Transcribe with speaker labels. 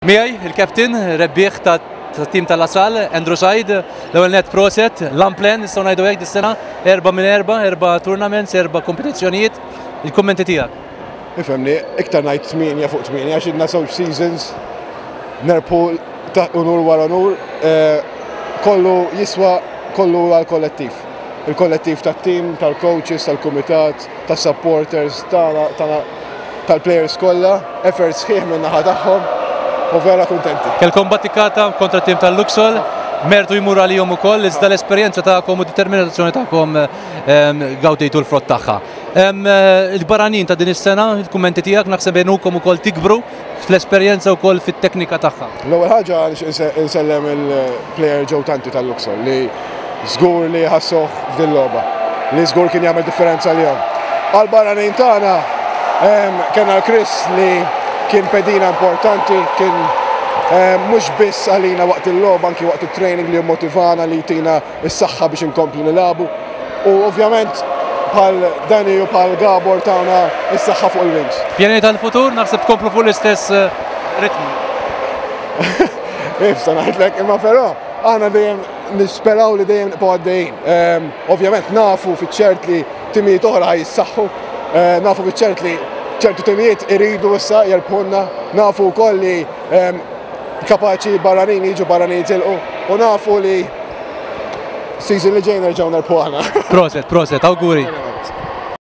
Speaker 1: Miegħi il-captain rebbieħ ta' tim ta' La Salle, Andrew Said, l-ewwel net proset, l-amplen nistgħu ngħidu hekk dis-sena, erba' minn erba', erba' tournaments, erba' kompetizzjonijiet. Il-kummenti tiegħek.
Speaker 2: Ifhimni, iktar ngħid 8 fuq 8 għax ilna żewġ seasons nerbħu ta' unur wara unur, kollu jiswa kollu għal kollettiv. Il-kollettiv tat-tim, tal-coaches, tal-kumitat, tas-supporters, tagħna tal-players kollha, effort sħiħ minn naħa tagħhom u vera kuntenti.
Speaker 1: Kelkom battikata kontra tim tal-Luxol, mertu jmur għalihom ukoll, iżda l-esperjenza tagħkom u determinazzjoni tagħkom gawdejtu l-frott tagħha. Il-barranin ta' din is-sena, il-kummenti tiegħek naħseb għenukom ukoll tikbru fl-esperjenza wkoll fit-teknika tagħha.
Speaker 2: L-ewwel ħaġa insellem il-player Joe Tanti tal-Luxol li żgur li ħassuh f'din logħba li żgur kien jagħmel differenza lihom. Għal-barranin tagħna kellna l-Chris li kien pedina importanti, kien mhux biss għalina waqt il-logħba, anki waqt il-training li motivana li jtina s-saħħa biex inkomplu nilagħbu. U ovvjament bħal Dani u bħal Gabor tawna s-saħħa fuq il-wings.
Speaker 1: Pjani tal-futur naħseb tkomplu fuq l-istess ritmu.
Speaker 2: Ifsa ngħidlek, imma però aħna dejjem nisperaw li dejjem nibqgħu għaddejjin. Ovvjament nafu fiċ-ċert li timijiet oħra jissaħħu, nafu fiċ-ċert li ċertu timijiet iridu issa jerbħunna, nafu wkoll li kapaċi barranin jiġu barranin jitilqu u nafu li season li ġej nerġgħu nerbħu aħna.
Speaker 1: Proset, proset, auguri.